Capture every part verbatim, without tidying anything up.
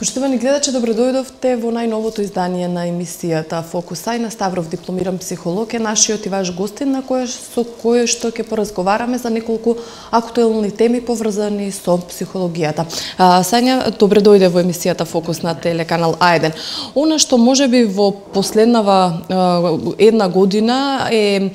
Поштовани гледачи, добредојдовте во најновото издание на емисијата Фокус. Ајна Ставров, дипломиран психолог, е нашиот и ваш гостин, на кој со кој што ќе поразговараме за неколку актуелни теми поврзани со психологијата. Сања, добредојде во емисијата Фокус на телеканал А еден. Она што можеби во последнава една година е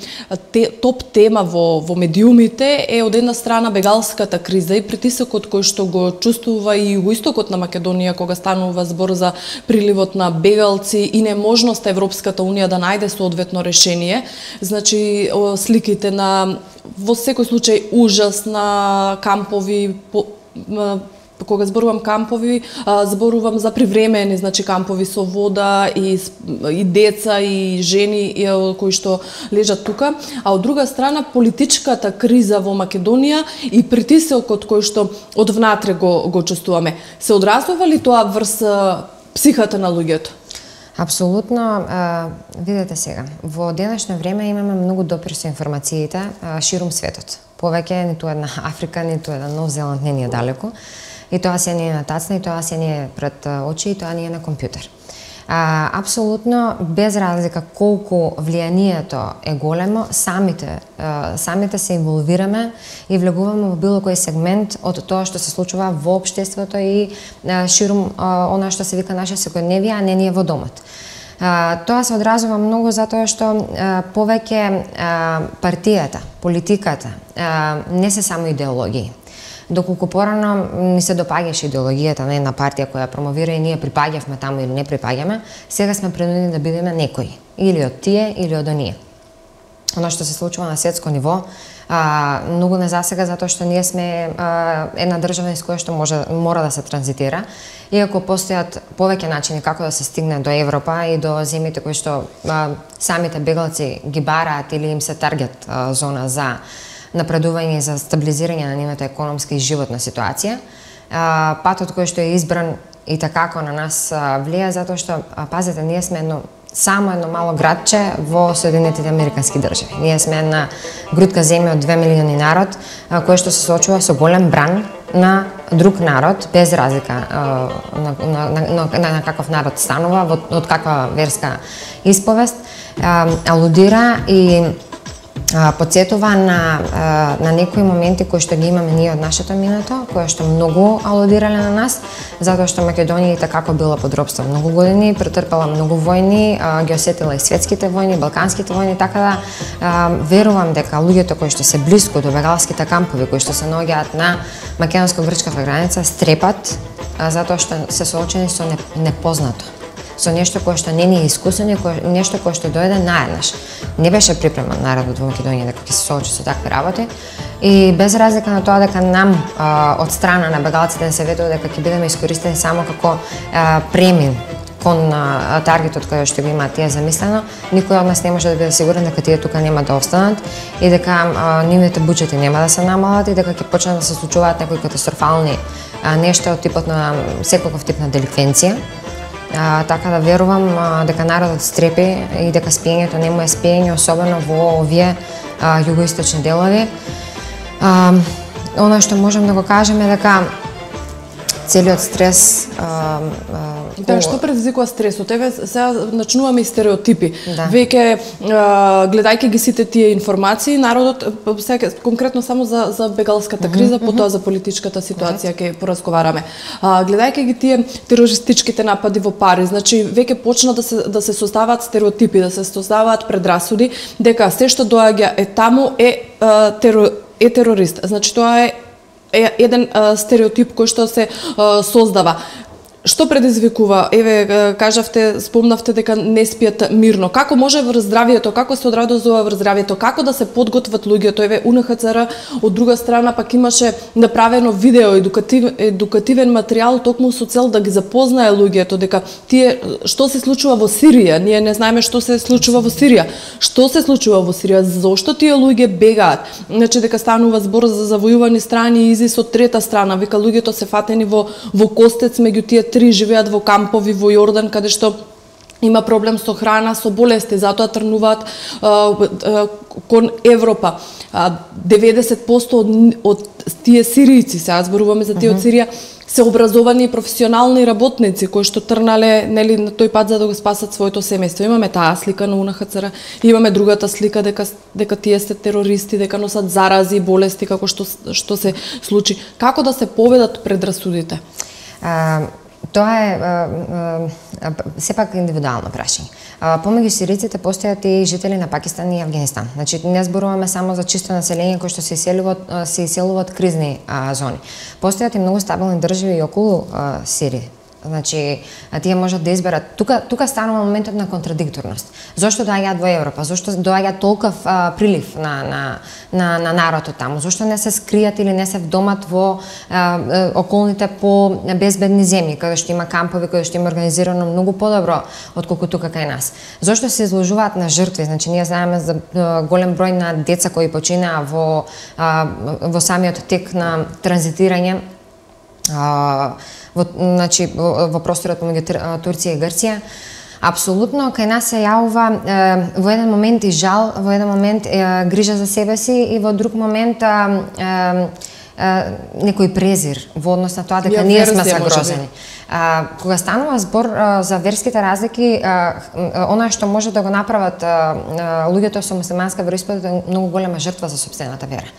те, топ тема во во медиумите е од една страна бегалската криза и притисокот кој што го чувствува и југоистокот на Македонија кога станува збор за приливот на бегалци и неможноста Европската Унија да најде соодветно решение. Значи, сликите на, во секој случај, ужас на кампови, по, кога зборувам кампови, зборувам за привремени, значи кампови со вода и, и деца и жени и, кои што лежат тука, а од друга страна политичката криза во Македонија и притисокот кој што од внатре го, го чувствуваме. Се одразува ли тоа врз психата на луѓето? Апсолутно. Видете сега, во денешно време имаме многу допир со информациите ширум светот. Повеќе ниту една Африка, ниту еден Нов Зеланд не ни е далеко. И тоа се не е на тацна, и тоа се не е пред очи, и тоа не е на компјутер. А, апсолутно, без разлика колку влијанието е големо, самите, а, самите се инволвираме и влегуваме во било кој сегмент од тоа што се случува во општеството и а, ширум а, она што се вика наша секојдневија, а не ние во домот. А, тоа се одразува многу затоа што а, повеќе а, партијата, политиката а, не се само идеологии. Доколку порано ни се допаѓаше идеологијата на една партија која промовира и ние припаѓавме таму или не припаѓаме, сега сме принудени да бидеме некои, или од тие, или од оние. Оно што се случува на светско ниво, а, многу не засега затоа што ние сме а, една држава из која што може, мора да се транзитира, иако постојат повеќе начини како да се стигне до Европа и до земјите кои што а, самите бегалци ги бараат или им се таргет а, зона за напредување за стабилизирање на нивната економска и животна ситуација. Патот кој што е избран и такако на нас влија, затоа што, пазете, ние сме едно, само едно мало градче во Соединетите Американски држави. Ние сме една грудка земја од две милиони народ, кој што се соочува со голем бран на друг народ, без разлика на, на, на, на, на каков народ станува, од каква верска исповест, алудира и подсетува на, на некои моменти кои што ги имаме ние од нашето минато, кои што многу алудирале на нас, затоа што Македонија така била под робство многу години, претрпела многу војни, ги осетила и светските војни, балканските војни, така да верувам дека луѓето кои што се блиску до бегалските кампови, кои што се наоѓаат на македонско-грчката граница, стрепат затоа што се соочени со непознато, со нешто кое што не ни е искусено, нешто кое што дојде наеднаш. Не беше припреман народот во Македонија дека ќе се соочи со такви работи и без разлика на тоа дека нам а, од страна на бегалците не се ветува дека ќе бидеме искористени само како а, премин кон а, таргетот кој што го имаат тие замислено, никој од нас не може да биде сигурен дека тие тука нема да останат и дека а, нивните буџети нема да се намалат и дека ќе почнат да се случуваат некои катастрофални а, нешта од типот на секаков тип на деликвенција. А, така да верувам а, дека народот стрепи и дека спиењето не му е спиење, особено во овие а, југоисточни делови. А, Оно што можем да го кажеме е дека целиот стрес а, а, Да, што предизвикува стресот? Еве сега начнуваме и стереотипи. Да. Веќе гледајќи ги сите тие информации, народот сега конкретно само за за бегалската криза, mm -hmm. потоа за политичката ситуација ќе поразговараме. А, гледајќи ги тие терористичките напади во Париз, значи веќе почна да се да се создаваат стереотипи, да се создаваат предрасуди дека се што доаѓа е таму е а, теро, е терорист. Значи тоа е е еден а, стереотип кој што се а, создава. Што предизвикува? Еве, кажавте, спомнавте дека не спијат мирно. Како може врз здравието, како се одразува врз здравието, како да се подготват луѓето? Еве, У Н Х Ц Р од друга страна пак имаше направено видео, едукатив, едукативен материјал токму со цел да ги запознае луѓето дека тие што се случува во Сирија, ние не знаеме што се случува во Сирија. Што се случува во Сирија? Зошто тие луѓе бегаат? Значи дека станува збор за завојувани страни и изис од трета страна, вика луѓето се фатени во во костец меѓу тие три живеат во кампови во Јордан, каде што има проблем со храна, со болести, затоа трнуваат а, а, кон Европа. А, деветдесет проценти од, од тие сиријци, сега зборуваме за тие од Сирија, се образовани и професионални работници кои што трнале нели на тој пат за да го спасат своето семејство. Имаме таа слика на У Н Х Ц Р, имаме другата слика дека дека тие се терористи, дека носат зарази и болести како што што се случи. Како да се поведат предрасудите? А, тоа е а, а, сепак индивидуално прашање. Помеѓу сириците постојат и жители на Пакистан и Авганистан. Значи не зборуваме само за чисто население кои што се иселуваат се иселуваат кризни а, зони. Постојат и многу стабилни држави и околу а, Сирија. Значи, тие можат да изберат. Тука, тука станува моментот на контрадикторност. Зошто доаѓаат во Европа? Зошто доаѓа толков а, прилив на, на, на, на народот таму? Зошто не се скријат или не се вдомат во а, околните по безбедни земји, каде што има кампови, каде што има организирано многу подобро отколку тука кај нас? Зошто се изложуваат на жртви? Значи, ние знаеме за а, голем број на деца кои починаа во, а, во самиот тек на транзитирање а, во, значи, во просторот помеѓу Турција и Грција. Апсолутно, кај нас се јавува е, во еден момент и жал, во еден момент е, грижа за себе си и во друг момент е, е, некој презир во однос на тоа дека ние сме загрозени. А, кога станува збор а, за верските разлики, а, она што може да го направат а, а, луѓето со муслиманска вероисповед е многу голема жртва за сопствената вера.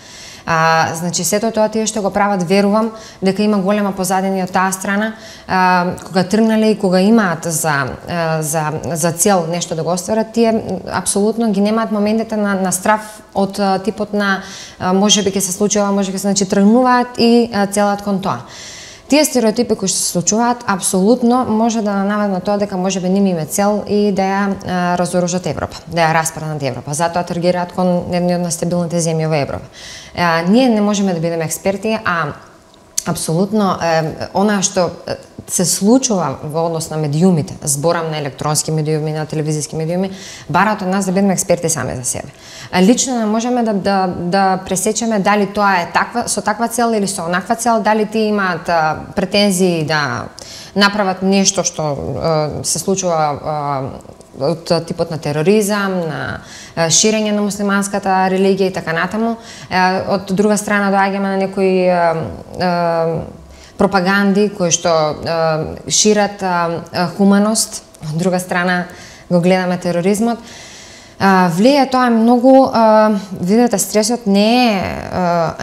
А, значи, сето тоа тие што го прават, верувам дека има голема позадина од таа страна, а, кога тргнале и кога имаат за, а, за, за цел нешто да го остварат, тие апсолутно ги немаат моментите на, на страф од а, типот на а, може би ќе се случи ова, може би се, значи, тргнуваат и а, целат кон тоа. Тие стереотипи кои што се случуваат, апсолутно може да наведат на тоа дека може би ними има цел и да ја а, разоружат Европа, да ја распаднат Европа. Затоа таргираат кон едни од нестабилните земји во Европа. А, ние не можеме да бидеме експерти, а апсолутно е, она што се случува во однос на медиумите, зборам на електронски медиуми, на телевизиски медиуми, бараат од нас да бидеме експерти сами за себе. Лично не можеме да, да, да пресечеме дали тоа е таква, со таква цел или со онаква цел, дали тие имаат а, претензии да направат нешто што а, се случува а, од типот на тероризам, на ширење на муслиманската религија и така натаму. Од друга страна доаѓаме на некои пропаганди кои што шират хуманост, од друга страна го гледаме тероризмот. Влијае тоа многу, видете, стресот не е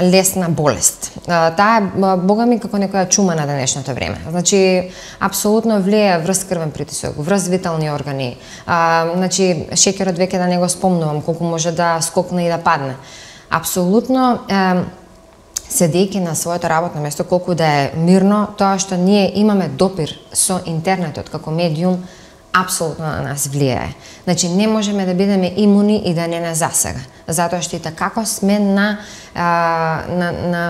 лесна болест. Таа е, бога ми, како некоја чума на денешното време. Значи, апсолутно влијае врз крвен притисок, врз витални органи. Значи, шеќерот веќе да не го спомнувам, колку може да скокне и да падне. Апсолутно, седејќи на своето работно место, колку да е мирно, тоа што ние имаме допир со интернетот како медиум, апсолутно на нас влијае. Значи, не можеме да бидеме имуни и да не не засега. Затоа што и како сме на, а, на, на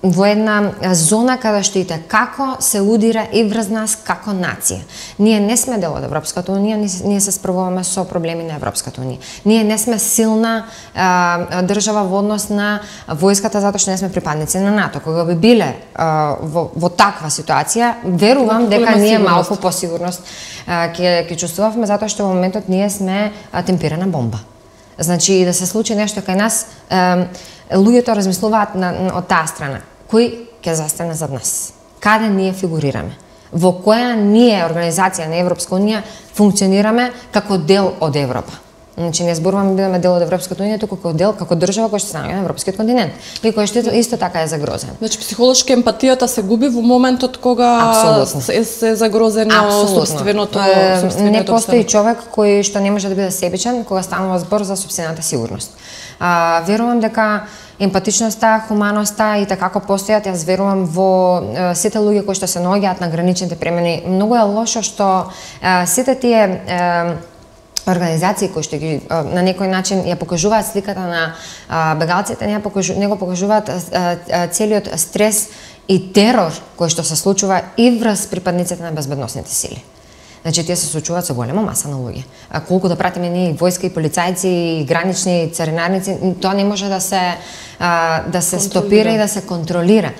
во една зона каде што и како се удира и врз нас како нација. Ние не сме дел од Европската унија, ние се справуваме со проблеми на Европската унија. Ние не сме силна а, држава во однос на војската затоа што не сме припадници на НАТО. Кога би биле а, во, во таква ситуација, верувам дека ние малку по сигурност ќе ќе чувствувавме затоа што во моментот ние сме а, темпирана бомба. Значи, да се случи нешто кај нас, а, луѓето размислуваат на, на, од таа страна. Кој ќе застане зад нас? Каде ние фигурираме? Во која ние, организација на Европска унија, функционираме како дел од Европа? Значи, не зборуваме да бидеме дел од Европската унија, туку како дел, како држава која што се наоѓа на европскиот континент и кој што исто така е загрозен. Значи, психолошки емпатијата се губи во моментот кога се, се загрозено собственото, собственото не постои човек кој што не може да биде себичен кога станува збор за сопствената сигурност. А, верувам дека емпатичноста, хуманоста и така како постојат, јас верувам во е, сите луѓе кои што се наоѓаат на граничните премини. Многу е лошо што е, сите тие е, организации кои што ги на некој начин ја покажуваат сликата на а, бегалците, не, покажу, не го покажуваат а, а, целиот стрес и терор кој што се случува и врз припадниците на безбедносните сили. Значи тие се соочуваат со голема маса на луѓе. А колку да пратиме ние војска и полицајци и гранични царинарници, тоа не може да се а, да се стопира и да се контролира.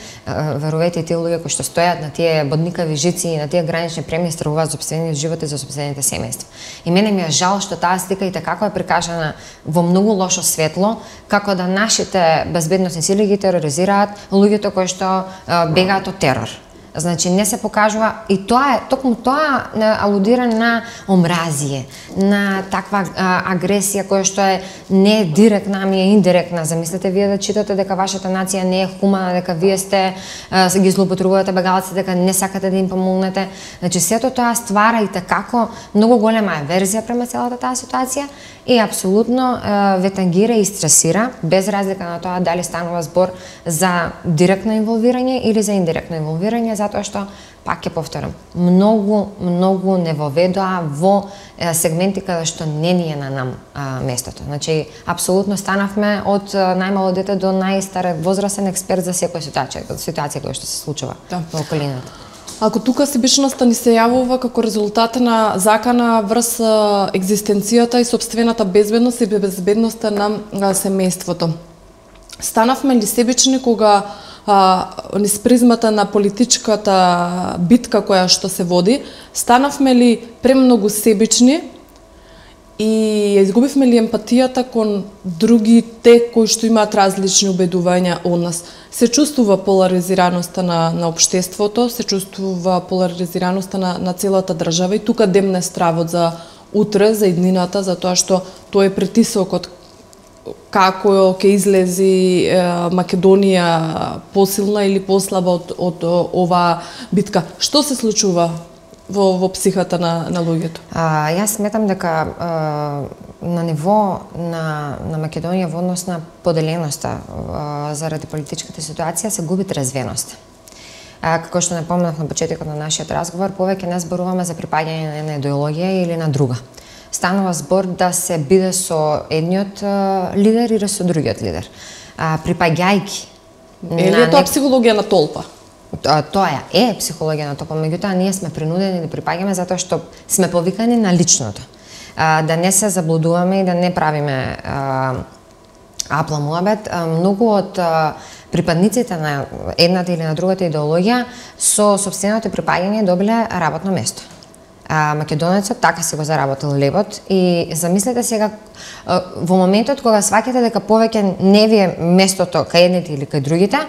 Верувате, тие луѓе кои што стојат на тие бодникави жици и на тие гранични премии стравуваат за сопствениот живот и за сопствените семејства. И мене ми е жал што таа слика и како е прикажана во многу лошо светло, како да нашите безбедносни сили ги тероризираат луѓето кои што а, бегаат од терор. Значи не се покажува и тоа е токму тоа алудира на омразие, на таква а, агресија која што е не директна, ами е индиректна. Замислете вие да читате дека вашата нација не е хумана, дека вие сте а, ги злоупотребувате бегалци, дека не сакате да им помогнете. Значи сето тоа ствара и како многу голема аверзија према целата таа ситуација и апсолутно а, ве тангира и стресира, без разлика на тоа дали станува збор за директно инволвирање или за индиректно инволвирање, затоа што, пак ќе повторам, многу, многу не воведоа во е, сегменти каде што не ни е на нам а, местото. Значи, апсолутно станавме од најмало дете до најстар возрастен експерт за секоја ситуација, ситуација која што се случува да. Во околината. Ако тука себичноста ни се јавува како резултат на закана врз екзистенцијата и сопствената безбедност и безбедноста на семејството, станавме ли себични кога а, низ призмата на политичката битка која што се води, станавме ли премногу себични и изгубивме ли емпатијата кон другите кои што имаат различни убедувања од нас? Се чувствува поларизираноста на, на општеството, се чувствува поларизираноста на, на целата држава и тука демне стравот за утре, за иднината, за тоа што тој е притисокот како ќе излези е, Македонија посилна или послаба од, од оваа битка. Што се случува во, во психата на, на луѓето? А, јас сметам дека а, на ниво на, на Македонија во однос на поделеноста а, заради политичката ситуација се губи трезвеност. А, како што напоменав на почетокот на нашиот разговор, повеќе не зборуваме за припаѓање на една идеологија или на друга. Станува збор да се биде со едниот а, лидер или со другиот лидер. А, припаѓајки. Или тоа психологија на толпа? Тоа е психологија на толпа, меѓутоа ние сме принудени да припаѓаме затоа што сме повикани на личното. А, да не се заблудуваме и да не правиме а, апла муабет. А, многу од а, припадниците на едната или на другата идеологија со сопственото припаѓање добиле работно место. А, македонецот така се го заработил лебот и замислете сега во моментот кога сваќате дека повеќе не ви е местото кај едните или кај другите,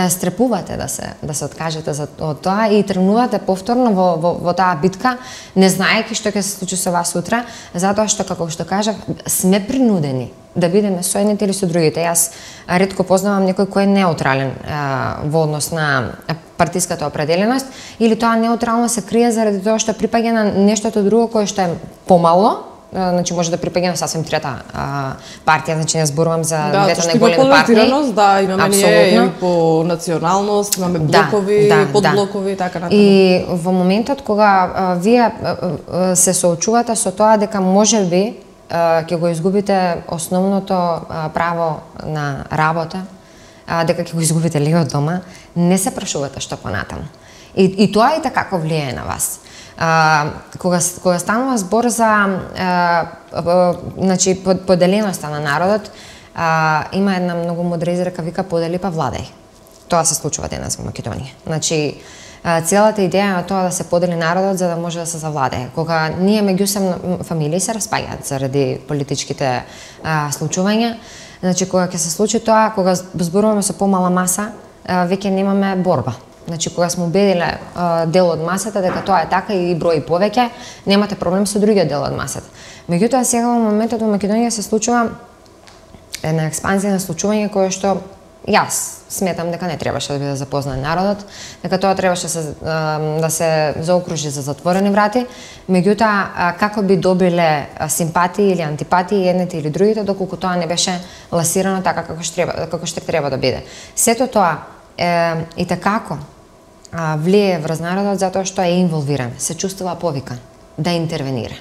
стрепувате да се да се откажете за од тоа и тренувате повторно во, во, во таа битка, не знаејќи што ќе се случи со вас утре, затоа што како што кажав, сме принудени да бидеме со едните или со другите. Јас ретко познавам некој кој е неутрален а, во однос на партиската определеност или тоа неутрално се крие заради тоа што припаѓа на нештото друго кое што е помало. Значи може да припаѓа на сасвем трета а, партија, значи не зборувам за да, двете најголеми партии. Да, имаме ние по националност, имаме блокови, да, да, подблокови и да. Така натаму. И во моментот кога а, вие а, а, се соочувате со тоа дека можеби ќе го изгубите основното а, право на работа, а, дека ќе го изгубите легот дома, не се прашувате што понатаму. И, и тоа и така влијае на вас. А, кога, кога станува збор за а, а, значи, поделеноста на народот, а, има една многу мудра изрека, вика подели па владај. Тоа се случува денес во Македонија. Значи, а, целата идеја на тоа да се подели народот за да може да се завладее. Кога ние меѓусебно фамилии се распаѓаат заради политичките а, случувања, значи кога ќе се случи тоа, кога зборуваме со помала маса, а, веќе немаме борба. Значи, кога сме убедиле а, дел од масата дека тоа е така и брои повеќе, немате проблем со другиот дел од масата. Меѓутоа, сега во моментот во Македонија се случува една експанзија на случување кое што јас сметам дека не требаше да биде запознат народот, дека тоа требаше да се, да се заокружи за затворени врати. Меѓутоа, како би добиле симпатии или антипатии едните или другите, доколку тоа не беше ласирано така како што треба, како што треба да биде. Сето тоа е, и такако а, влие врз народот затоа што е инволвиран, се чувствува повикан да интервенира.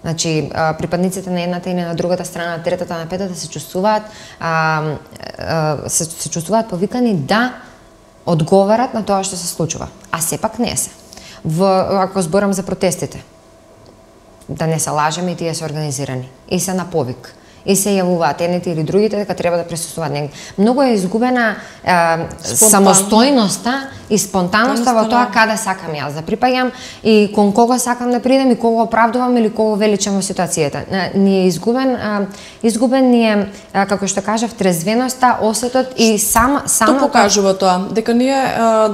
Значи, а, припадниците на едната или на другата страна, на третата, на петата се чувствуваат а, а, се, се чувствуваат повикани да одговарат на тоа што се случува. А сепак не се. Во, ако зборам за протестите, да не се лажеме, и тие се организирани и се на повик и се јавуваат едните или другите дека треба да присуствуваат негде. Многу е изгубена е, самостојноста и спонтаноста во тоа каде сакам јас да припаѓам и кон кого сакам да придам и кого оправдувам или кого величам во ситуацијата. Ни е изгубен, е, изгубен ни е, е, како што кажав, трезвеноста, осетот и сам само Што покажува тоа? Дека ние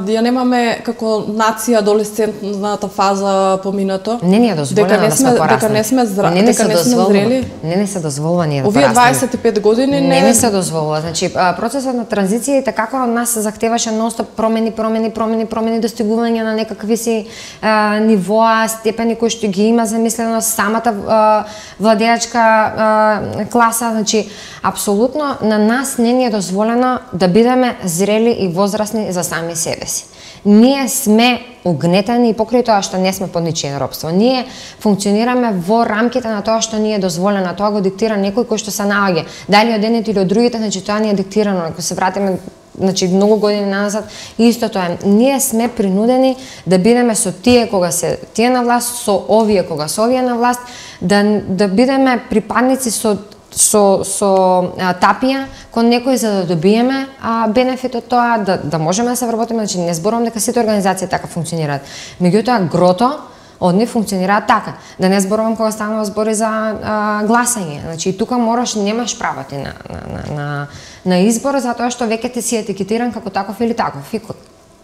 ја немаме како нација адолесцентната фаза поминато. Не ни е дозволено да сме пораснати. Дека не сме зра... не дека не сме зрели. Не не се дозволува ние да Овие дваесет и пет години не не не се дозволува. Значи процесот на транзиција и така од нас се захтеваше нонстоп промени, промени, промени, промени, достигување на некакви си а, нивоа, степени кои што ги има замислено самата а, владеачка а, класа. Значи апсолутно на нас не ни е дозволено да бидеме зрели и возрастни за сами себе си. Ние сме угнетени и покрај тоа што не сме под ничие робство. Ние функционираме во рамките на тоа што ни е дозволено, тоа го диктира некој кој што се наоѓа. Дали од едните или од другите, значи тоа ни е диктирано. Ако се вратиме значи многу години назад, исто тоа е. Ние сме принудени да бидеме со тие кога се тие на власт, со овие кога се овие на власт, да да бидеме припадници со со со а, тапија кон некој за да добиеме а, бенефит од тоа, да да можеме да се вработиме. Значи не зборувам дека сите организации така функционираат. Меѓутоа грото од нив функционираат така. Да не зборувам кога станува збори за а, гласање. Значи тука мораш, немаш право ти на на на на избор, затоа што веќе ти си етикетиран како таков или таков. И,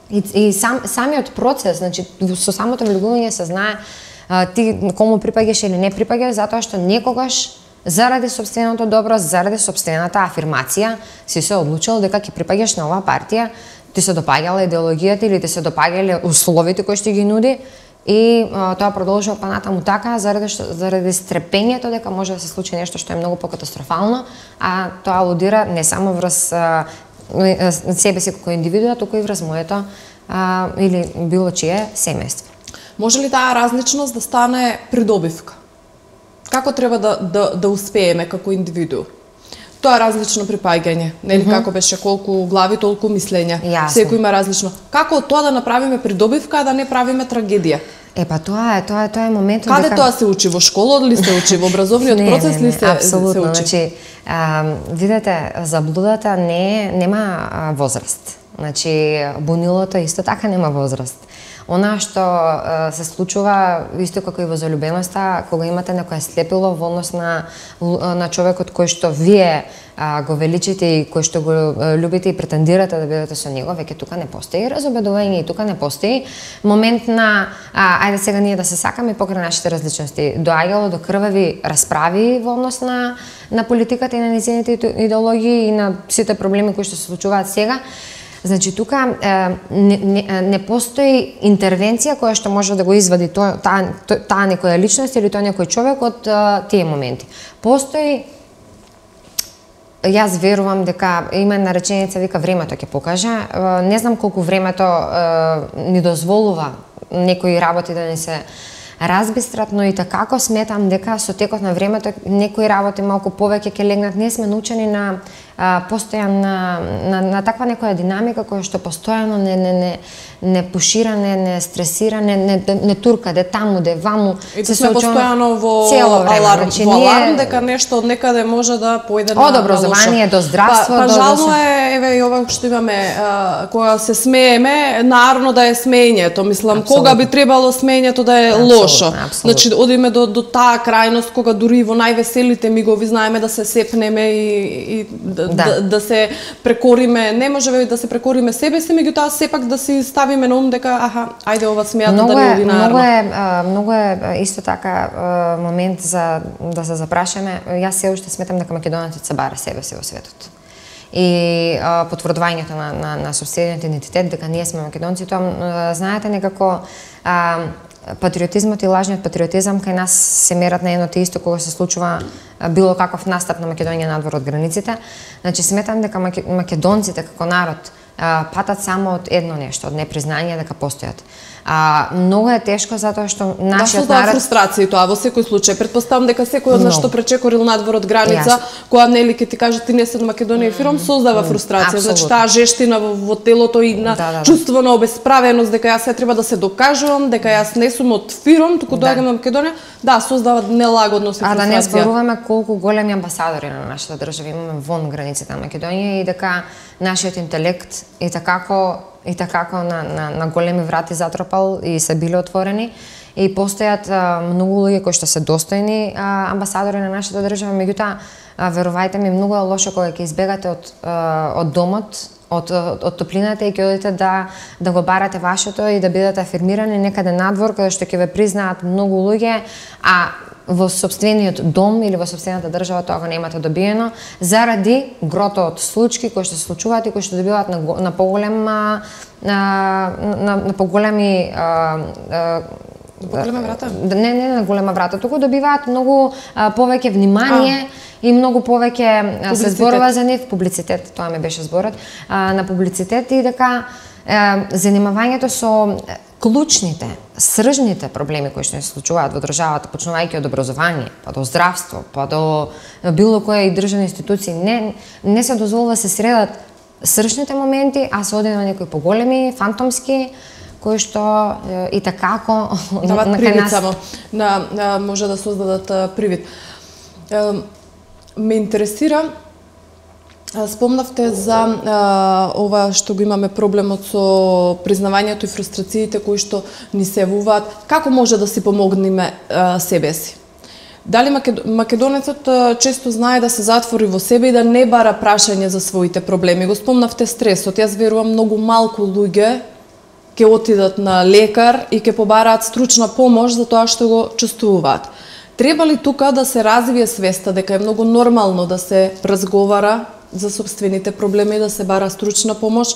и, и сам самиот процес, значи со самото влегување се знае а, ти кому припаѓаш или не припаѓаш, затоа што некогаш заради сопственото добро, заради сопствената афирмација, си се одлучил дека ќе припаѓаш на оваа партија, ти се допаѓала идеологијата или ти се допаѓале условите кои што ги нуди и а, тоа продолжува па натаму така заради што, заради стрепењето дека може да се случи нешто што е многу покатастрофално, а тоа алудира не само врз а, себе си како индивидуа, туку и врз моето а, или било чие семејство. Може ли таа различност да стане придобивка? Како треба да, да, да успееме како индивиду? Тоа е различно припаѓање, нели? Mm -hmm. Како беше, колку глави, толку мислења. Секој има различно. Како од тоа да направиме придобивка, а да не правиме трагедија? Е, па тоа е, тоа е, тоа е моментот Каде дека... тоа се учи? Во школа ли се учи? Во образовниот не, процес не, не, ли се, апсолутно, се учи? Значи, а, видете, заблудата не нема а, возраст. Значи, бунилото исто така нема возраст. Она што а, се случува исто како и во залюбеноста, кога имате некое слепило во однос на на човекот кој што вие а, го величите и кој што го а, любите и претендирате да бидете со него, веќе тука не постои разобедување и тука не постои момент на а, ајде сега ние да се сакаме покрај нашите различности. Доаѓало до крвави расправи во однос на на политиката и на нејзините идеологии и на сите проблеми кои што се случуваат сега. Значи тука е, не, не, не постои интервенција која што може да го извади тоа таа таа некоја личност или тој некој човек од а, тие моменти. Постои, јас верувам дека има една реченица вика времето ќе покаже. Не знам колку времето е, ни дозволува некои работи да ни се разбистрат, но и така сметам дека со текот на времето некои работи малку повеќе ќе легнат. Ние сме научени на а, постојан на, на, на таква некоја динамика која што постојано не не не не пушира, не не стресира, не не, не турка, де таму, де ваму. И се сме постојано во аларм, значи, во аларм ние... дека нешто од некаде може да појде на од образование до здравство. Па, па до, жално е, еве и ова што имаме, а, кога се смееме, наравно да е смеењето, мислам, абсолютно. Кога би требало смеењето да е лошо. Абсолютно. Значи одиме до до таа крајност кога дури во највеселите мигови знаеме да се сепнеме и, и да, да. Да, да се прекориме, не можеме да се прекориме себе си, меѓутоа сепак да си ставиме на ум дека аха, ајде ова смејата да не оди на многу е многу е исто така момент за да се запрашаме. Јас се уште сметам дека македонецот се бара себе си во светот. И а, потврдувањето на на на сопствениот идентитет дека ние сме македонци, тоа знаете некако а, патриотизмот и лажниот патриотизам кај нас се мерат на едно те исто кога се случува било каков настап на Македонија надвор од границите. Значи сметам дека македонците како народ патат само од едно нешто, од непризнање дека постојат. А, многу е тешко затоа што нашиот да, народ... фрустрација тоа во секој случај. Претпоставам дека секој од нас што пречекорил надвор од граница, yes. Која нели ќе ти каже ти не си од Македонија фиром, создава фрустрација. Mm, значи таа жештина во, во телото и на да, да, чувство на обесправеност дека јас се треба да се докажувам, дека јас не сум од фиром, туку да. Доаѓам во Македонија, да, создава нелагодност и фрустрација. А да не зборуваме колку големи амбасадори на нашата држава имаме вон границите на Македонија и дека нашиот интелект и такако и такако на, на, на големи врати затропал и се биле отворени и постојат а, многу луѓе кои што се достојни а, амбасадори на нашата држава, меѓутоа верувајте ми многу е лошо кога ќе избегате од а, од домот, од, од, од топлината и ќе одите да да го барате вашето и да бидете афирмирани некаде надвор каде што ќе ве признаат многу луѓе, а во собствениот дом или во собствената држава тоа го немате добиено заради грото од случаи кои што се случуваат и кои што добиваат на, на поголем на, на, на поголеми голема врата? Не, не на голема врата, туку добиваат многу а, повеќе внимание а. И многу повеќе а, се зборува за нив, публицитет, тоа ми беше зборот, а, на публицитет и дека а, занимавањето со клучните, сржните проблеми кои што се случуваат во државата, почнувајќи од образование, па до здравство, па до било која и државни институции, не не се дозволува се средат сржните моменти, а се оди на некои поголеми, фантомски, кои што и такако дават привид само, на, на може да создадат привид. Ме интересира, спомнавте за а, ова што го имаме проблемот со признавањето и фрустрациите кои што ни се явуваат, како може да си помогнеме а, себе си? Дали македонецот а, често знае да се затвори во себе и да не бара прашање за своите проблеми? Го спомнавте стресот. Јас верувам многу малку луѓе ќе отидат на лекар и ќе побараат стручна помош за тоа што го чувствуваат. Треба ли тука да се развие свеста дека е многу нормално да се разговара за собствените проблеми, да се бара стручна помош?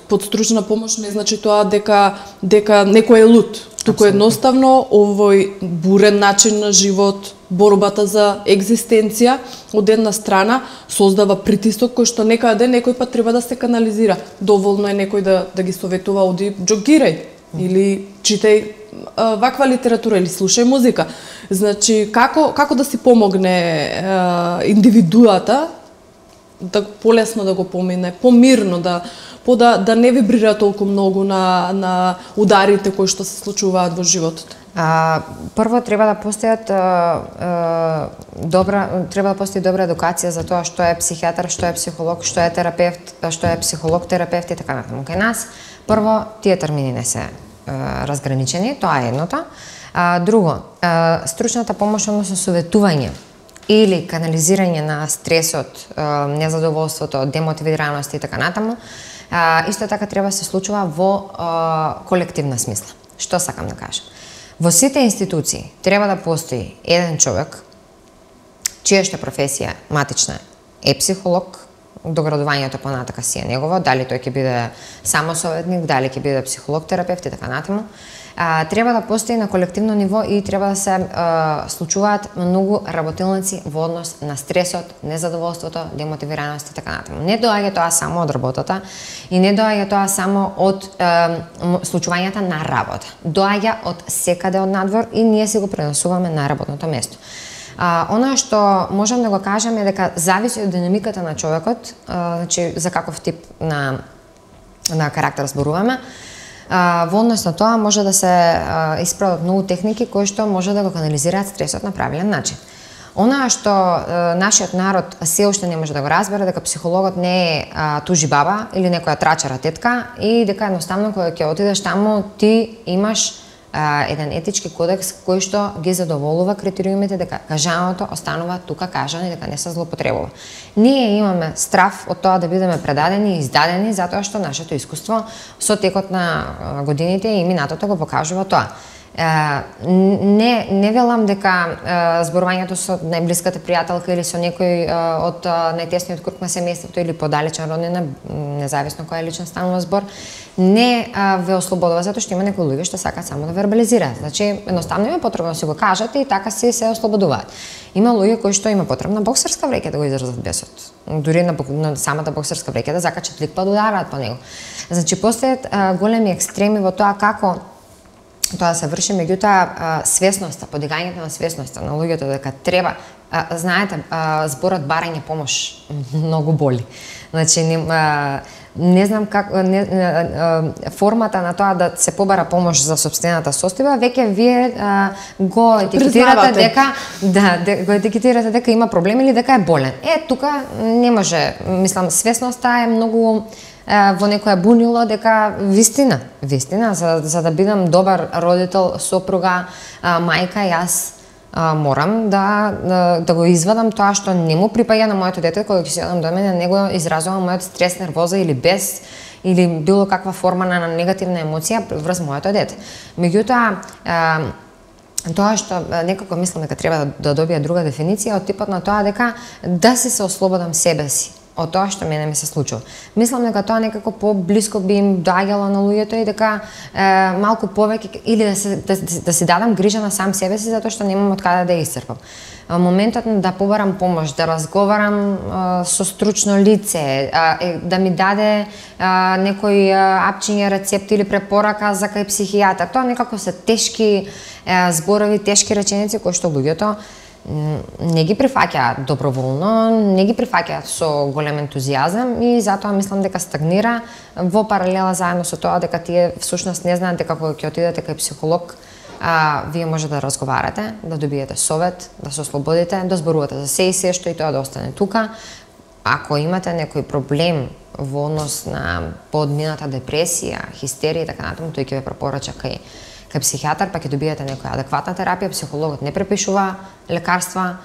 Под стручна помош не значи тоа дека дека некој е луд. Туку едноставно овој бурен начин на живот, борбата за екзистенција од една страна создава притисок кој што некаде некој пат треба да се канализира. Доволно е некој да да ги советува оди джогирај или читај а, ваква литература или слушај музика. Значи како како да си помогне а, индивидуата да полесно да го помине, помирно да по да да не вибрира толку многу на на ударите кои што се случуваат во животот. А, прво треба да постојат а, а, добра треба да постои добра едукација за тоа што е психијатар, што е психолог, што е терапевт, што е психолог, терапевт и така натаму. Кај нас прво тие термини не се а, разграничени, тоа е едното. А, друго, а, стручната помош, односно советување или канализирање на стресот, незадоволството, демотивираност и така натаму, исто така треба да се случува во колективна смисла. Што сакам да кажам? Во сите институции треба да постои еден човек, чијашта професија матична е психолог, доградувањето понатака си е негово, дали тој ќе биде само советник, дали ќе биде психолог, терапевт и така натаму. А, треба да постои на колективно ниво и треба да се а, случуваат многу работилници во однос на стресот, незадоволството, демотивираност и така натаму. Не доаѓа тоа само од работата и не доаѓа тоа само од а, случувањата на работа. Доаѓа од секаде од надвор и ние си го пренесуваме на работното место. А, она што можам да го кажам е дека зависи од динамиката на човекот, а, значи за каков тип на на карактер зборуваме. А, во однос на тоа може да се а, исправат многу техники кои што може да го канализираат стресот на правилен начин. Она што а, нашиот народ се уште не може да го разбере дека психологот не е а, тужи баба или некоја трачара тетка и дека едноставно кога ќе отидеш таму ти имаш а, еден етички кодекс кој што ги задоволува критериумите дека кажаното останува тука кажано и дека не се злоупотребува. Ние имаме страв од тоа да бидеме предадени и издадени затоа што нашето искуство со текот на годините и минатото го покажува тоа. Не, не велам дека зборувањето со најблиската пријателка или со некој од најтесниот круг на семејството или подалечен роднина, независно која личен станува збор, не ве ослободува, затоа што има некои луѓе што сакаат само да вербализираат. Значи, едноставно има потребно да си го кажат и така си се ослободуваат. Има луѓе кои што има потребна боксерска вреќа да го изразат бесот. Дури на, на самата боксерска вреќа да закачат лик па да удараат по него. Значи, постојат големи екстреми во тоа како тоа се врши, меѓутоа свесноста, подигањето на свесноста на луѓето дека треба, а, знаете, а, зборот барање помош многу боли. Значи не, а, не знам как не, а, а, формата на тоа да се побара помош за сопствената состојба, веќе вие а, го етикетирате дека да, де, го етикетирате дека има проблем или дека е болен. Е, тука не може, мислам, свесноста е многу во некоја бунило дека вистина, вистина, за, за да бидам добар родител, сопруга, а, мајка, јас а, морам да, да, да го извадам тоа што не му припаѓа на моето дете, кога ќе седам до мене, не го изразувам мојот стрес, нервоза или бес, или било каква форма на негативна емоција врз моето дете. Меѓутоа, тоа што некако мислам дека треба да, да добија друга дефиниција од типот на тоа дека да си се ослободам себе си од тоа што мене ми се случува. Мислам дека тоа некако поблиско би им доаѓало на луѓето и дека е, малку повеќе или да се да, да си дадам грижа на сам себе си затоа што немам од каде да ја исцрпам. Моментот да побарам помош, да разговарам е, со стручно лице, е, да ми даде е, некој апчиња рецепт или препорака за кај психијатар. Тоа некако се тешки е, зборови, тешки реченици кои што луѓето не ги прифаќаат доброволно, не ги прифаќаат со голем ентузијазам и затоа мислам дека стагнира во паралела заедно со тоа дека тие всушност не знаат дека кога ќе отидете кај психолог, а, вие може да разговарате, да добиете совет, да се ослободите, да зборувате за се и се што и тоа да остане тука. Ако имате некој проблем во однос на поодмината депресија, хистерија и така натаму, тој ќе ве препорача кај кај психијатар, па ќе добиете некоја адекватна терапија. Психологот не препишува лекарства,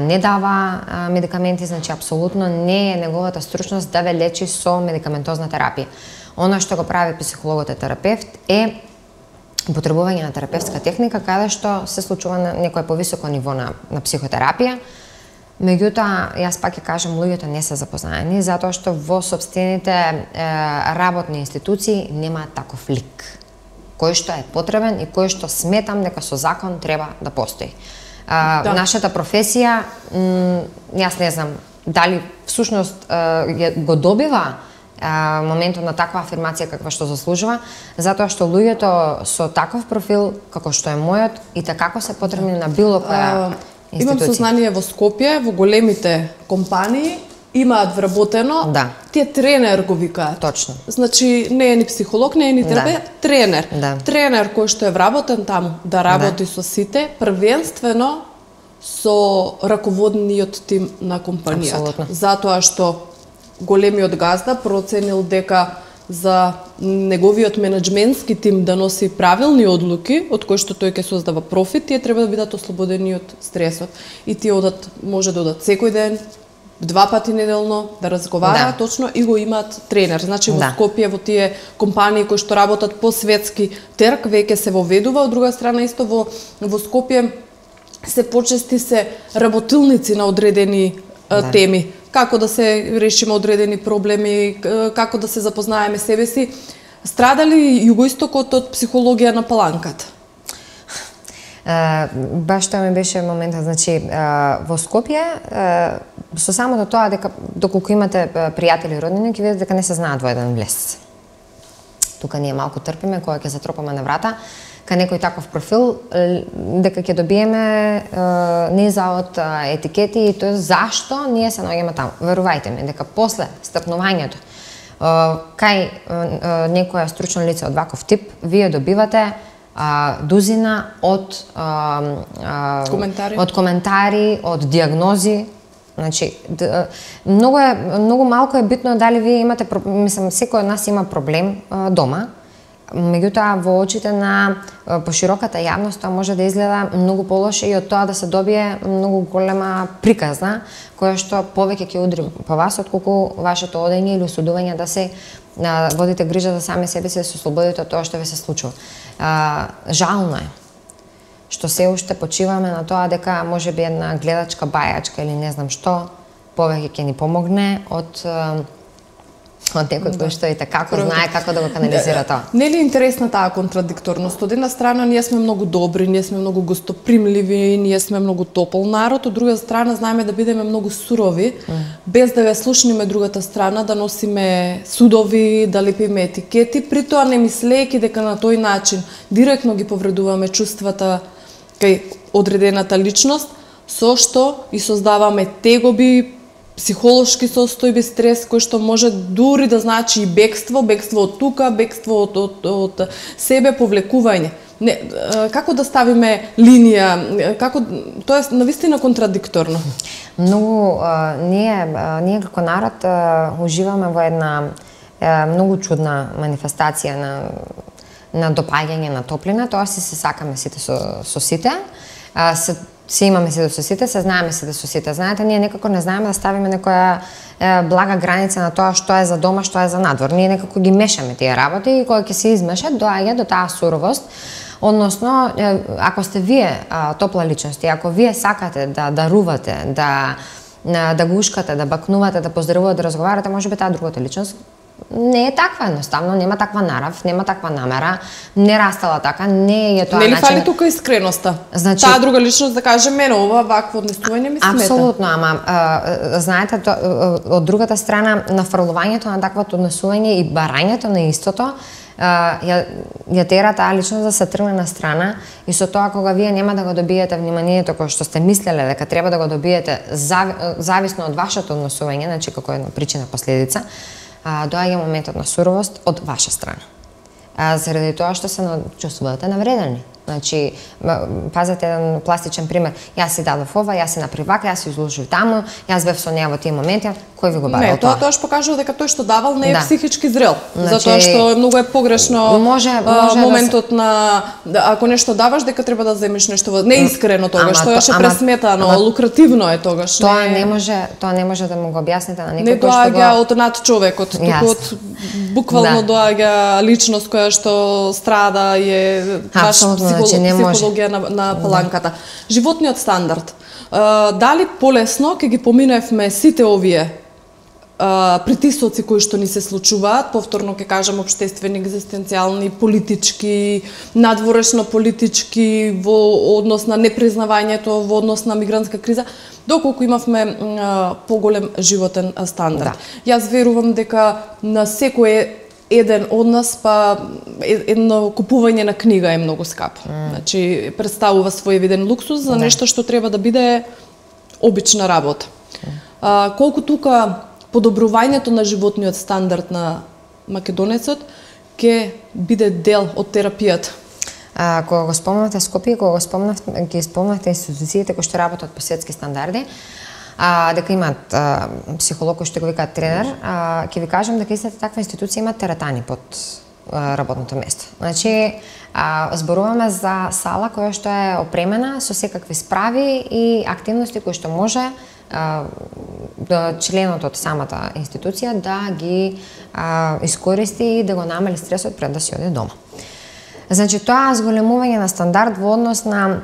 не дава медикаменти, значи апсолутно не е неговата стручност да ве лечи со медикаментозна терапија. Она што го прави психологот е терапевт е употребување на терапевтска техника каде што се случува на некое повисоко ниво на, на психотерапија. Меѓутоа, јас пак ќе кажам, луѓето не се запознаени затоа што во сопствените е, работни институции нема таков лик кој што е потребен и кој што сметам дека со закон треба да постои. А, да. Нашата професија, јас не знам дали всушност го добива а, моментот на таква афирмација каква што заслужува, затоа што луѓето со таков профил како што е мојот и така се потребни на било која институција. Имам сознание во Скопје, во големите компании имаат вработено, да. Тие тренер го викаат. Точно. Значи не е ни психолог, не е ни терапевт, да. Тренер. Да. Тренер кој што е вработен таму да работи да. Со сите, првенствено со раководниот тим на компанијата. Абсолютно. Затоа што големиот газда проценил дека за неговиот менеджментски тим да носи правилни одлуки, од кои што тој ќе создава профит, тие треба да бидат ослободени од стресот. И тие одат, може да одат секој ден, два пати неделно, да разговараат да. Точно и го имаат тренер. Значи во да. Скопје, во тие компании кои што работат по светски терк, веќе се воведува, од друга страна исто во, во Скопје се почести се работилници на одредени да. Теми. Како да се решиме одредени проблеми, како да се запознаеме себе си. Страдали југоистокот од психологија на паланката? Uh, баш тоа ми беше моментот, значи uh, во Скопје uh, со самото тоа дека доколку имате пријатели и роднини ќе видите дека не се знаат во еден влез. Тука ние малку трпиме кога ќе затропаме на врата кај некој таков профил дека ќе добиеме uh, низа од uh, етикети и тоа зашто ние се наоѓаме таму. Верувајте ми дека после стапнувањето uh, кај uh, некоја стручно лице од ваков тип вие добивате А, дузина од а, а, коментари. од коментари, од диагнози. Значи, д, многу е многу малку е битно дали вие имате, мислам, секој од нас има проблем а, дома. Меѓутоа во очите на а, пошироката јавност тоа може да изгледа многу полоше и од тоа да се добие многу голема приказна која што повеќе ќе удри по вас отколку вашето одење или осудување да се а, водите грижа за сами себе си, да се ослободите од тоа што ви се случува. А, жално е. што се уште почиваме на тоа дека можеби една гледачка бајачка или не знам што повеќе ќе ни помогне од од некој кој што и како знае како да го канализира тоа. Нели е интересна таа контрадикторност? Од една страна ние сме многу добри, ние сме многу гостопримливи, ние сме многу топол народ, од друга страна знаеме да бидеме многу сурови, mm. без да ја слушнеме другата страна, да носиме судови, да лепиме етикети, при тоа не мислејќи дека на тој начин директно ги повредуваме чувствата кај одредената личност, со што и создаваме тегоби, психолошки состојби, стрес, кој што може дури да значи и бегство, бегство од тука, бегство од, од, од себе, повлекување. Не, како да ставиме линија, како, тоа е навистина контрадикторно. Многу, а, ние, а, ние како народ а, уживаме во една а, многу чудна манифестација на, на допаѓање на топлина, тоа си се сакаме сите со, со сите, а, се Се имаме се со сите, се знаеме се со сите. Знаете, ние некако не знаеме да ставиме некоја е, блага граница на тоа што е за дома, што е за надвор. Ние некако ги мешаме тие работи и кога ќе се измешат, доаѓа до таа суровост. Односно, е, ако сте вие а, топла личност и ако вие сакате да дарувате, да да гушкате, да бакнувате, да поздравувате, да разговарате, можеби таа другата личност не е таква едноставно, нема таква нарав, нема таква намера, не растала така, не е тоа начин. Не ли фали тука искреноста? Значи, таа друга личност да каже мене ова вакво однесување ми смета. Апсолутно, ама а, знаете, то, од другата страна нафрлувањето на таквото однесување и барањето на истото а, ја, ја тера таа личност да се тргне на страна и со тоа кога вие нема да го добиете вниманието кој што сте мислеле дека треба да го добиете зави, зависно од вашето однесување, значи како една причина последица, А, доаѓа моментот на суровост од ваша страна. А, заради тоа што се чувствувате навредени. Значи, пазете еден пластичен пример. Јас си дадов ова, јас си направив вака, јас си изложив таму, јас бев со неа во тие моменти, кој ви го барал тоа? Не, тоа тоа покажува дека тој што давал не е да. психички зрел. Значи, затоа што многу е погрешно може, може моментот да се... на да, ако нешто даваш дека треба да земеш нешто во... не искрено тогаш, тоа е пресметано, ама, лукративно е тогаш. Тоа не... не може, тоа не може да му го објасните на некој кој што го... Не доаѓа од над човекот, туку од буквално да. доаѓа личност која што страда и е баш психолог, психологија на, на паланката. Да. Животниот стандард. А, дали полесно ќе ги поминевме сите овие а, притисоци кои што ни се случуваат, повторно ќе кажам општествени, екзистенцијални, политички, надворешно политички, во однос на непризнавањето, во однос на мигрантска криза, доколку имавме а, поголем животен стандард. Да. Јас верувам дека на секој еден од нас, па едно купување на книга е многу скапо. Mm. Значи, представува свој виден луксус за нешто што треба да биде обична работа. Mm. А, колку тука подобрувањето на животниот стандард на македонецот ќе биде дел од терапијата? А, кога го спомнавте Скопје, кога го спомнавте, ги спомнавте институциите кои што работат по светски стандарди, а, дека имаат а, психолог кој што го викаат тренер, а, ќе ви кажам дека истата таква институција има тератани под а, работното место. Значи, а, зборуваме за сала која што е опремена со секакви справи и активности кои што може а, да членот од самата институција да ги а, искористи и да го намали стресот пред да си оде дома. Значи, тоа зголемување на стандард во однос на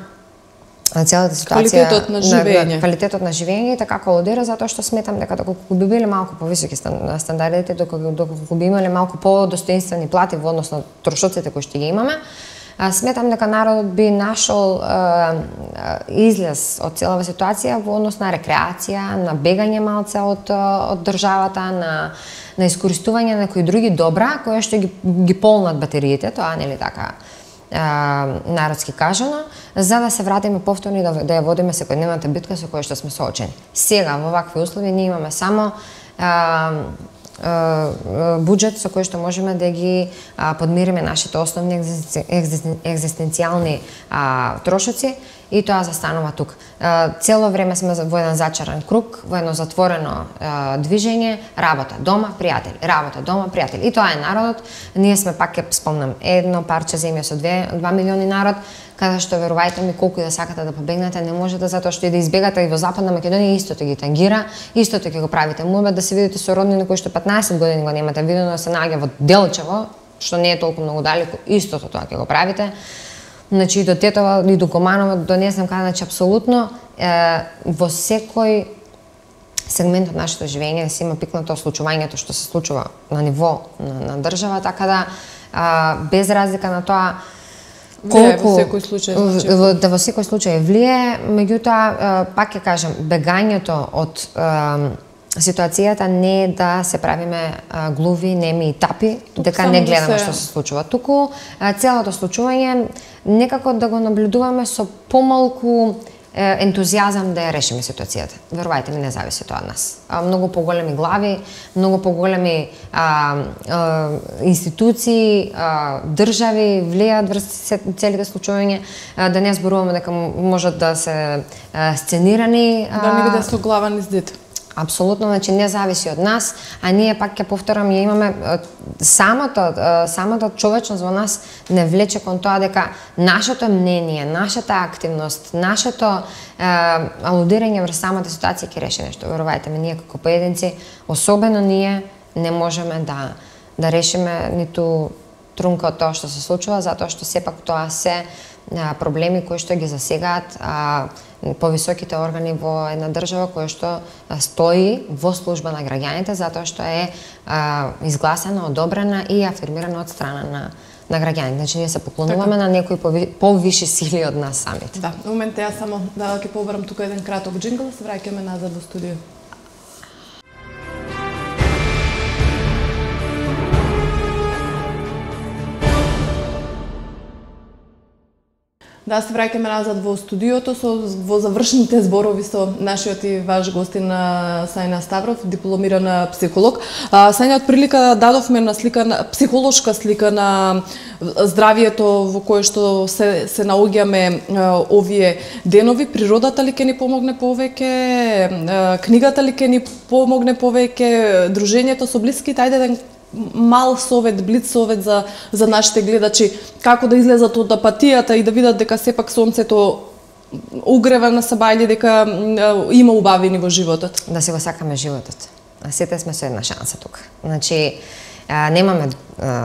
целата ситуација, квалитетот на живење, на, квалитетот на живење и така колодира, затоа што сметам дека доколку би биле малку повисоки стандардите, доколку, доколку би имале малку подостоинствени плати во однос на трошоците кои што ги имаме, сметам дека народот би нашол е, излез од целава ситуација во однос на рекреација, на бегање малце од, од државата, на на искористување на некои други добра кои што ги, ги полнат батериите, тоа нели така а, народски кажано, за да се вратиме повторно и да, да ја водиме секојдневната битка со која што сме соочени. Сега во вакви услови ние имаме само а, а, буџет со кој што можеме да ги а, подмириме нашите основни екзистенцијални а, трошоци и тоа застанува тук. Цело време сме во еден зачаран круг, во едно затворено движење, работа, дома, пријатели, работа, дома, пријатели. И тоа е народот. Ние сме, пак ќе спомнам, едно парче земја со два милиони народ, каде што верувајте ми колку и да сакате да побегнете, не можете затоа што и да избегате и во Западна Македонија истото ги тангира, истото ќе го правите. Муабет да се видите со роднини кои што петнаесет години го немате видено да се наоѓа во Делчево, што не е толку многу далеку, истото тоа ќе го правите. значи и до Тетова, и до Команово, до не знам каде, значи апсолутно е, во секој сегмент од нашето живење да се има пикнато случувањето што се случува на ниво на, на држава, така да а, без разлика на тоа колку во секој случај, значи. во, да во секој случај влие, меѓутоа пак ќе кажам, бегањето од а, ситуацијата не е да се правиме а, глуви, неми и тапи, тук дека не гледаме да се... што се случува. Туку а, целото случување некако да го наблюдуваме со помалку ентузијазам да ја решиме ситуацијата. Верувајте ми, не зависи тоа од нас. А, многу поголеми глави, многу поголеми а, а, институции, а, држави влијаат врз целите случувања, а, да не зборуваме дека можат да се а, сценирани. Да не биде со глава низ дете. Апсолутно, значи не зависи од нас, а ние пак ќе повторам, ја имаме самото самото човечност во нас не влече кон тоа дека нашето мнение, нашата активност, нашето е, алудирање врз самата ситуација ќе реши нешто. Верувајте ми, ние како поединци, особено ние не можеме да да решиме ниту трунка од тоа што се случува, затоа што сепак тоа се проблеми кои што ги засегаат а, повисоките органи во една држава која што стои во служба на граѓаните, затоа што е а, изгласена, одобрена и афирмирана од страна на на граѓаните. Значи ние се поклонуваме така на некои повиши сили од нас самите. Да, на момент јас само да ќе побарам тука еден краток џингл, се враќаме назад во студио. Да, се враќаме назад во студиото со во завршните зборови со нашиот и ваш гостин Сајна Ставров, дипломиран психолог. Сајна, од прилика дадовме на слика, на психолошка слика на здравието во кое што се се наоѓаме овие денови. Природата ли ќе ни помогне повеќе? Книгата ли ќе ни помогне повеќе? Дружењето со блиските? Ајде да мал совет, блиц совет за за нашите гледачи, како да излезат од апатијата и да видат дека сепак сонцето угрева на саба или дека има убавини во животот. Да си го сакаме животот. Сите сме со една шанса тука. Значи немаме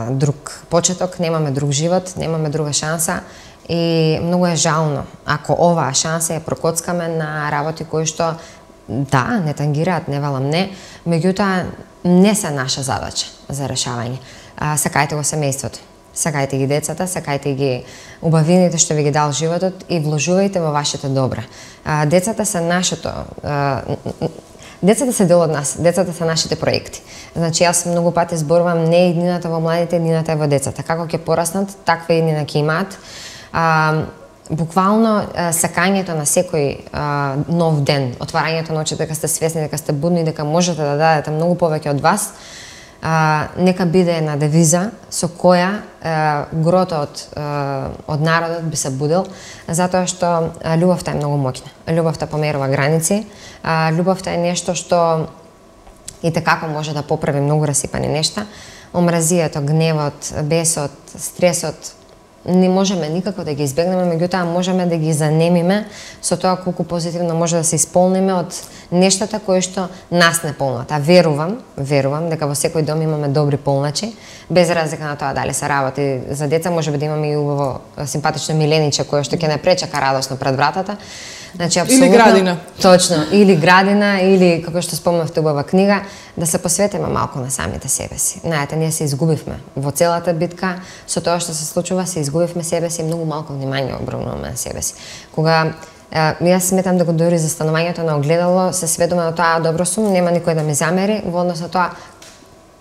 друг почеток, немаме друг живот, немаме друга шанса и многу е жално ако оваа шанса ја прокоцкаме на работи кои што да, не тангираат, не велам не, меѓутоа не се наша задача за решавање. А, сакајте го семејството, сакајте ги децата, сакајте ги убавините што ви ги дал животот и вложувајте во вашите добра. А, децата се нашето, а, децата се дел од нас, децата се нашите проекти. Значи јас многу пати зборувам не иднината во младите, иднината е во децата. Како ќе пораснат, таква иднина ќе имаат. А, буквално сакањето на секој а, нов ден, отварањето на очите дека сте свесни, дека сте будни, дека можете да дадете многу повеќе од вас, а, нека биде една девиза со која а, грото од, а, од народот би се будил, затоа што а, љубовта е многу моќна. Љубовта померува граници, а, љубовта е нешто што и tekako може да поправи многу расипани нешта. Омразијето, гневот, бесот, стресот, не можеме никако да ги избегнеме, меѓутоа можеме да ги занемиме со тоа колку позитивно може да се исполниме од нештата кои што нас не полнат. А верувам, верувам дека во секој дом имаме добри полначи, без разлика на тоа дали се работи за деца, можеби да имаме и убаво симпатично милениче кое што ќе не пречака радосно пред вратата. Значи, или градина. Точно, или градина, или, како што спомнавте, убава книга, да се посветиме малку на самите себе си. Знаете, ние се изгубивме во целата битка, со тоа што се случува, се изгубивме себе си и многу малку внимание обрнуваме на себе си. Кога јас сметам дека дури за станувањето на огледало се сведоме на тоа, добро сум, нема никој да ми замери, во однос на тоа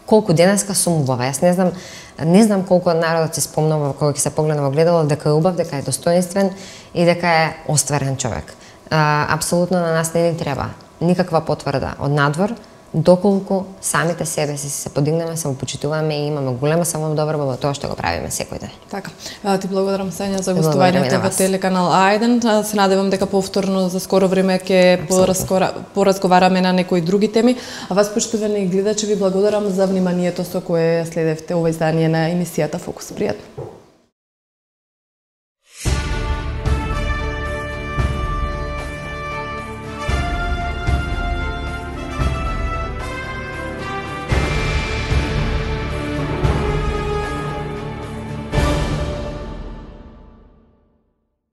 колку денеска сум убава. Јас не знам, не знам колку народот се спомнува кога ќе се погледне во огледало дека е убав, дека е достоинствен и дека е остварен човек. А, апсолутно на нас не ни треба никаква потврда од надвор, доколку самите себе си се подигнеме, самопочитуваме и имаме голема самодобрба во тоа што го правиме секој ден. Така. Ти благодарам, Сања, за гостувањето во телеканал А еден. Се надевам дека повторно за скоро време ќе поразговараме на некои други теми. А вас, поштовани гледачи, ви благодарам за вниманието со кое следевте ова издание на емисијата Фокус. Пријатно.